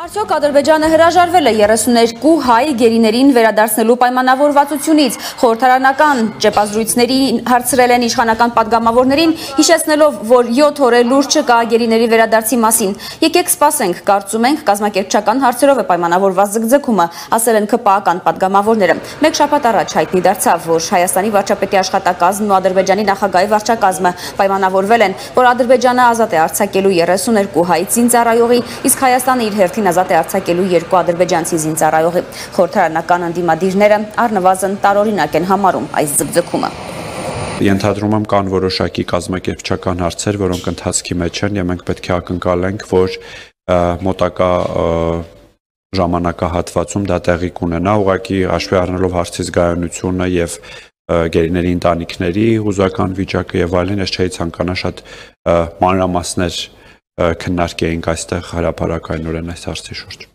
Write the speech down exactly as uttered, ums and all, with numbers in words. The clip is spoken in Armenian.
Արդյոք Ադրբեջանը հրաժարվել է երեսուներկու հայ գերիներին վերադարձնելու պայմանավորվածությունից, խորհրդարանական ճեպազրույցների հարցրել են իշխանական պատգամավորներին, հիշեցնելով, որ յոթ օր է լուր չկա գերիների վերադարձի մասին։ Եկեք սպասենք, կարծում ենք կազմակերպչական հարցերով է պայմանավորված ձգձգումը, ասել են ՔՊԱ-ական պատգամավորները։ Մեկ շաբաթ առաջ հայտնի դարձավ, որ Հայաստանի վարչապետի աշխատակազմն ու Ադրբեջանի նախագահի վարչակազմը պայմանավորվել են, որ Ադրբեջանը ազատ է արձակելու երեսուներկու հայ զինծառայողի, իսկ Հայաստանը իր հերթին ազատ է արձակելու երկու ադրբեջանցի զինծառայողի։ Խորհրդարանական ընդդիմադիրները առնվազն տարօրինակ են համարում այս ձգձգումը։ Ենթադրում եմ կան որոշակի կազմակերպչական հարցեր, որոնք ընթացքի մեջ են, եւ մենք պետք է ակնկալենք, որ մոտակա ժամանակահատվածում դա տեղի կունենա, ուղղակի հաշվի առնելով հարցի զգայունությունը եւ գերիների ընտանիքների հուզական վիճակը եւ այլն, ես չէի ցանկանա շատ մանրամասներ քննարկեինք այստեղ հրապարակայնորեն այս հարցի շուրջ։